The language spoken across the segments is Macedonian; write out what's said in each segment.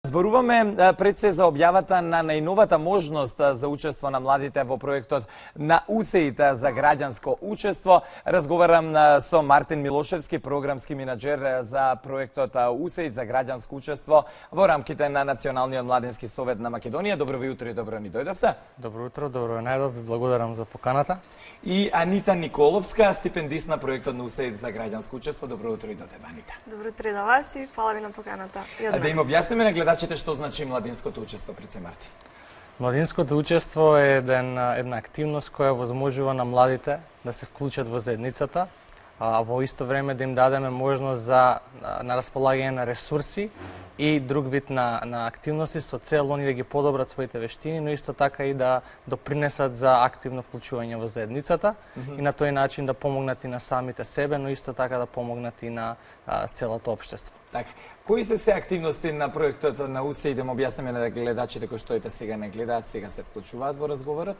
Зборуваме пред се за објавата на најновата можност за учество на младите во проектот на УСЕИ за граѓанско учество. Разговарам со Мартин Милошевски, програмски менаџер за проектот УСЕИ за граѓанско учество во рамките на Националниот младински совет на Македонија. Добро ви утро и добро ни дојдовте. Добро утро, добро најдов, ви благодарам за поканата. И Анита Николовска, стипендист на проектот на УСЕИ за граѓанско учество. Добро утро и до тебе, Анита. Добро утро и до вас и фала ви на поканата. Да им објасниме на гледачите што значи младинското учество, пред се Мартин. Младинското учество е една активност која возможува на младите да се вклучат во заедницата, а во исто време да им дадеме можност на располагање на ресурси и друг вид на активности со цел они да ги подобрат своите вештини, но исто така и да допринесат за активно вклучување во заедницата и на тој начин да помогнат и на самите себе, но исто така да помогнат и на целото општество. Така, кои се активности на проектот на УСЕИ, да му објасниме на гледачите кои што сега не гледаат, сега се вклучуваат во разговорот?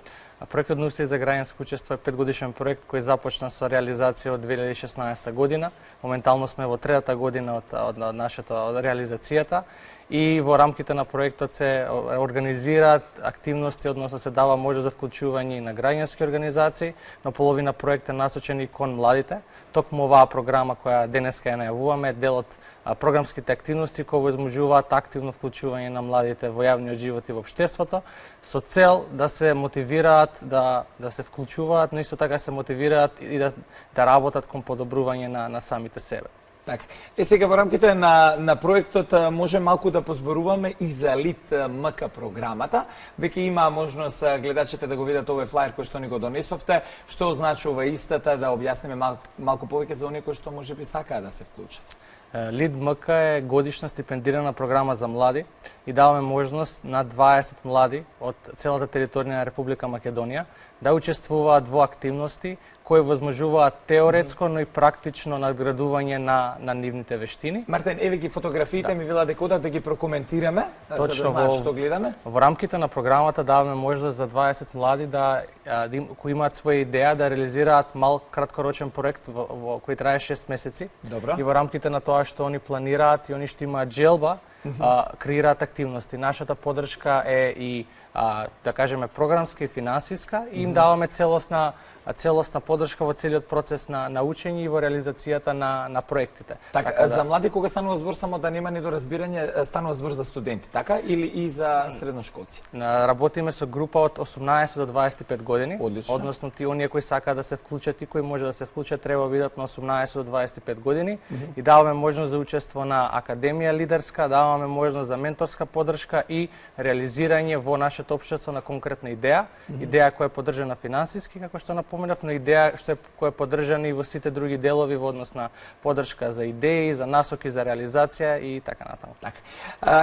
Проектот на УСЕИ за граѓанско учество е 5-годишен проект кој започна со реализација од 2016 година. Моментално сме во третата година од нашата реализацијата и во рамките на проектот се организираат активности, односно се дава можност за вклучување на граѓански организации, но половина проект е насочен и кон младите. Токму оваа програма која денеска ја најавуваме е дел од програмските активности кои возможуваат активно вклучување на младите во јавниот живот и во општеството, со цел да се мотивираат да се вклучуваат, но исто така се мотивираат и да работат кон подобрување на самите себе. Така. Сега во рамките на проектот може малку да позборуваме и за Лид МК програмата. Веќе има можност гледачите да го видат овој флаер кој што ни го донесовте, што означува истата, да објасниме малку повеќе за оние кои што можеби сакаат да се вклучат. Лид МК е годишна стипендирана програма за млади и даваме можност на 20 млади од целата територија на Република Македонија да учествуваат во активности кои возможуваат теоретско, но и практично надградување на нивните вештини. Мартин, еве ги фотографиите, ми вела дека да ги прокоментираме, точно, за да знаат што гледаме. Во рамките на програмата даваме можност за 20 млади кои имаат своја идеја да реализираат мал краткорочен проект кој трае 6 месеци. Добро. И во рамките на тоа што они планираат и они што имаат желба, креираат активности. Нашата поддршка е и да кажеме програмска и финансиска и им даваме целосна поддршка во целиот процес на учење и во реализацијата на проектите. Така, за млади кога станува збор, само да нема недоразбирање, станува збор за студенти, така или и за средношколци? Работиме со група од 18 до 25 години. Одлично. Односно оние кои сакаат да се вклучат и кои може да се вклучат треба да бидат на 18 до 25 години и даваме можност за учество на академија лидерска, даваме можност за менторска поддршка и реализирање во нашето општество на конкретна идеја, идеја која е поддржана финансиски, како што напоменав, но идеја која е поддржана и во сите други делови во однос на поддршка за идеи, за насоки за реализација и така натаму. Така.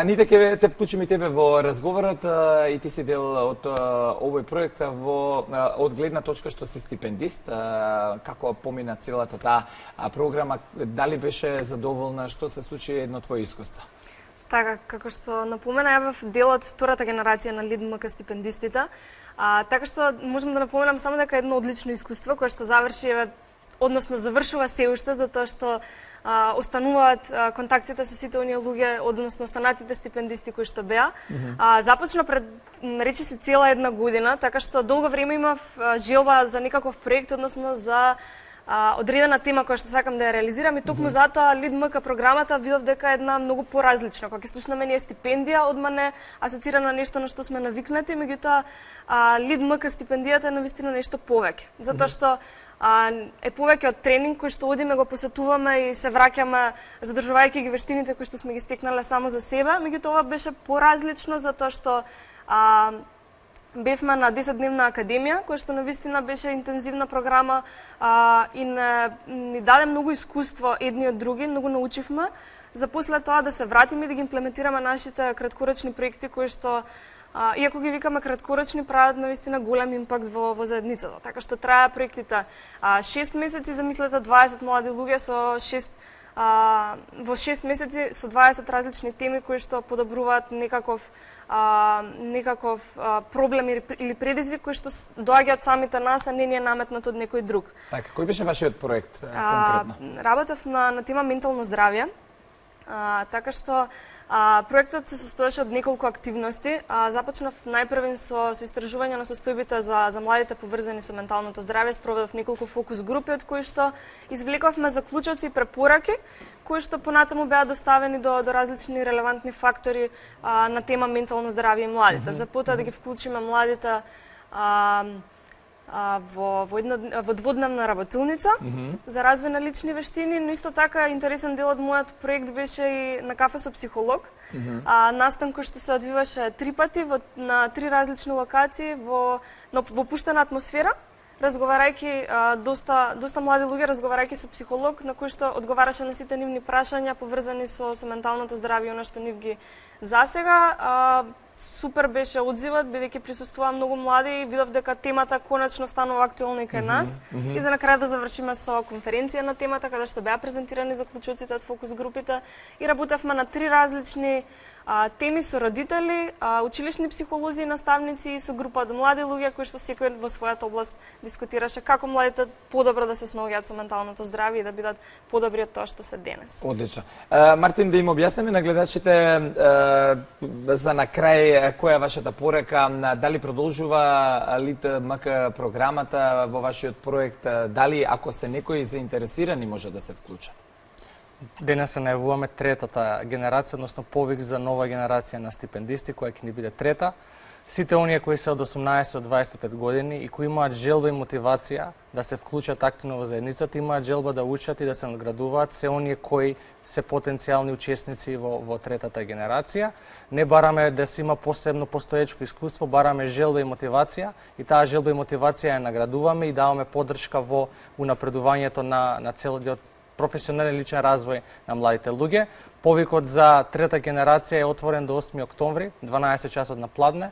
Нита, ќе те вклучиме и тебе во разговорот и ти си дел од овој проект од гледна точка што си стипендист. Како помина целата таа програма, дали беше задоволна, што се случи едно твое искуство? Така, како што напомена, ја бев дел од втората генерација на Лид МК стипендистите. Така што можам да напоменам само дека е едно одлично искуство кое што завршува се уште, затоа што остануваат контактите со сите оние луѓе, односно останатите стипендисти кои што беа. Започна пред речи се цела една година, така што долго време имав желба за некаков проект, односно за одредена тема која што сакам да ја реализирам и токму затоа Лид МК програмата видов дека е една многу поразлична. Кога ќе слушнеме ние стипендија, одма не асоцирана на нешто на што сме навикнати, меѓутоа Лид МК стипендијата е навистина нешто повеќе. Затоа што е повеќе од тренинг кој што одиме, го посетуваме и се враќаме задржувајќи ги вештините кои што сме ги стекнале само за себе, меѓутоа ова беше поразлично затоа што бевме на 10-дневна академија, која што навистина беше интензивна програма и ни даде многу искуство едни од други, многу научивме, за после тоа да се вратиме и да ги имплементираме нашите краткорочни проекти кои што иако ги викаме краткорочни, прават навистина голем импакт во заедницата. Така што трае проектите 6 месеци, замислете 20 млади луѓе во 6 месеци со 20 различни теми кои што подобруваат некаков проблем или предизвик кој што доаѓа од самите нас, а не ни е наметнат од некој друг. Така, кој беше вашиот проект конкретно? Работев на тема ментално здравје. Така што Проектот се состоеше од неколку активности. Започнав најпрвен со истражување на состојбите за младите поврзани со менталното здравје. Спроведов неколку фокус групи од кои што извлековме заклучоци и препораки кои што понатаму беа доставени до различни релевантни фактори на тема ментално здравје и младите. За потоа да ги вклучиме младите во дводневна работилница за развој на лични вештини, но исто така интересен дел од мојот проект беше и на кафе со психолог. Настан кој што се одвиваше 3 пати на 3 различни локации во пуштена атмосфера, разговарајќи доста млади луѓе разговарајќи со психолог на кој што одговараше на сите нивни прашања поврзани со менталното здравје и она што нив ги засега. Супер беше одзивот, бидејќи присуствуваа многу млади и видов дека темата конечно станува актуелна и кај нас. И за на крај да завршиме со конференција на темата, каде што беа презентирани заклучоците од фокус групите и работевме на 3 различни теми со родители, училишни психолози и наставници и со група од млади луѓе кои што секој во својата област дискутираше како младите подобро да се снаоѓаат со менталното здравје и да бидат подобри од тоа што се денес. Одлично. Мартин, да им објасниме на гледачите за на крај која е вашата порека, дали продолжува ЛИТМК програмата во вашиот проект, дали ако се некои заинтересирани може да се вклучат? Денес се најавуваме третата генерација, односно повик за нова генерација на стипендисти, која ќе ни биде трета. Сите оние кои се од 18 до 25 години и кои имаат желба и мотивација да се вклучат активно во заедницата, имаат желба да учат и да се надградуваат, се оние кои се потенцијални учесници во третата генерација. Не бараме да се има посебно постоечко искуство, бараме желба и мотивација и таа желба и мотивација ја наградуваме и даваме поддршка во унапредувањето на целиот професионален личен развој на младите луѓе. Повикот за трета генерација е отворен до 8 октомври, 12 часот на пладне.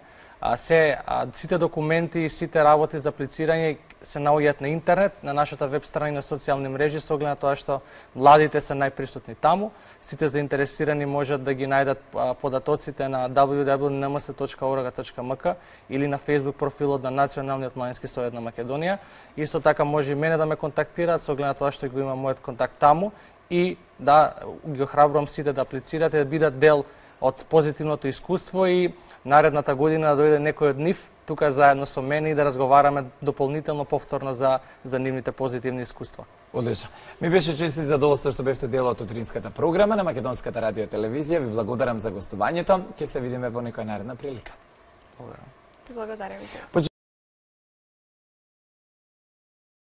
Сите документи и сите работи за аплицирање се наоѓаат на интернет, на нашата веб страни на социјални мрежи, со оглед на тоа што младите се најприсутни таму. Сите заинтересирани можат да ги најдат податоците на www.nms.org.mk или на Facebook профилот на Националниот младински совет на Македонија. Исто така може и мене да ме контактираат со оглед на тоа што го има мојот контакт таму и да ги охрабрувам сите да аплицирате, да бидат дел од позитивното искуство и наредната година да дојде некој од нив тука заедно со мене и да разговараме дополнително повторно за нивните позитивни искуства. Одлично. Ми беше чест и задоволство што бевте дел од утринската програма на Македонската радио телевизија. Ви благодарам за гостувањето. Ќе се видиме во некоја наредна прилика. Благодарам. Ти благодарам.